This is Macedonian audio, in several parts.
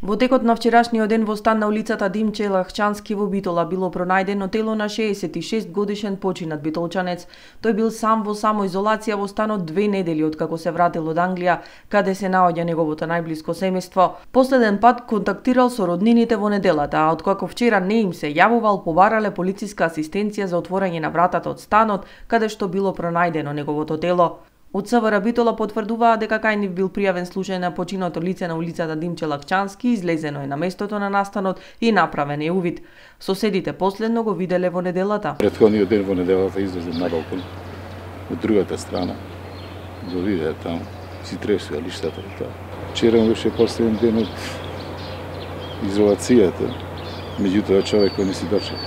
Во текот на вчерашниот ден во стан на улицата Димче Лахчански во Битола било пронајдено тело на 66 годишен починат битолчанец. Тој бил сам во самоизолација во станот 2 недели откако се вратил од Англија, каде се наоѓа неговото најблиско семејство. Последен пат контактирал со роднините во неделата, а откако вчера не им се јавувал, побарале полициска асистенција за отворање на вратата од станот, каде што било пронајдено неговото тело. Од СВР Битола потврдуваа дека кај нив бил пријавен случај на починато лице на улицата Димче Лахчански, излезено е на местото на настанот и направен е увид. Соседите последно го виделе во неделата. Претходниот ден во неделата излезем на балкон од другата страна. Го видеа таму, си тресува лиштата и тоа. Вчера беше последен ден од изолацијата, меѓутоа човекот не си дочека.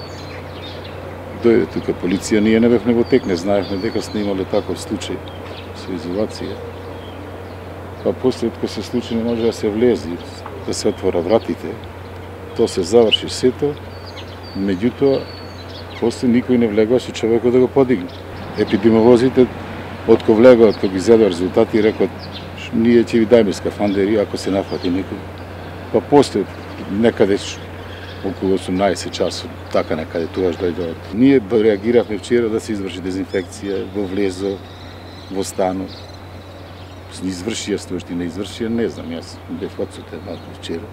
Дојде тука полиција, ние не бевме во тек, не знаевме дека снимале таков случај со изолација. Па после кога се случи не може да се влези, да се отвора вратите. Тоа се заврши сето, меѓутоа после никој не влегува со човекот да го подигне. Епидемиолозите откако влегуваат, кога ги изедува резултати, рекот ние ќе ви дајме скафандери ако се нафати некој. Па после некаде околу 18 часот, така некаде тогаш дојдоат. Ние реагиравме вчера да се изврши дезинфекција во влезо, во станот. Извршија стојшти, не извршија, не знам, јас бев одсутен малку вчера,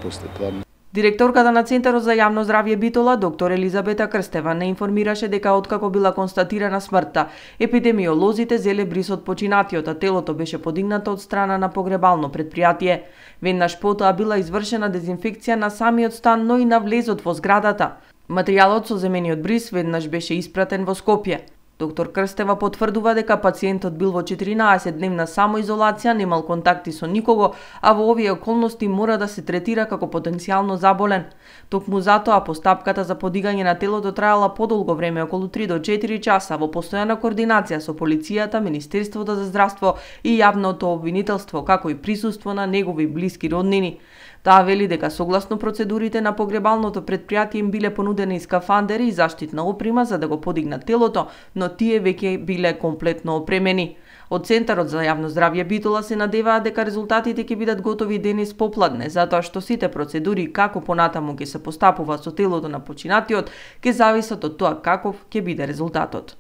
после тоа. Директорката на Центарот за јавно здравје Битола, доктор Елизабета Крстева, не информираше дека откако била констатирана смртта, епидемиолозите зеле бриз од починатиот, а телото беше подигнато од страна на погребално предпријатие. Веднаш потоа била извршена дезинфекција на самиот стан, но и на влезот во зградата. Материјалот со земениот бриз веднаш беше испратен во Скопје. Доктор Крстева потврдува дека пациентот бил во 14-дневна самоизолација, немал контакти со никого, а во овие околности мора да се третира како потенцијално заболен. Токму затоа постапката за подигање на телото траела подолго време, околу 3 до 4 часа, во постојана координација со полицијата, Министерството за здравство и јавното обвинителство, како и присуство на негови блиски роднини. Таа вели дека согласно процедурите на погребалното предпријатие им биле понудени скафандери и заштитна опрема за да го подигнат телото, но тие веќе биле комплетно опремени. Од Центарот за јавно здравје Битола се надеваат дека резултатите ќе бидат готови денес попладне, затоа што сите процедури како понатаму ќе се постапува со телото на починатиот ќе зависат од тоа каков ќе биде резултатот.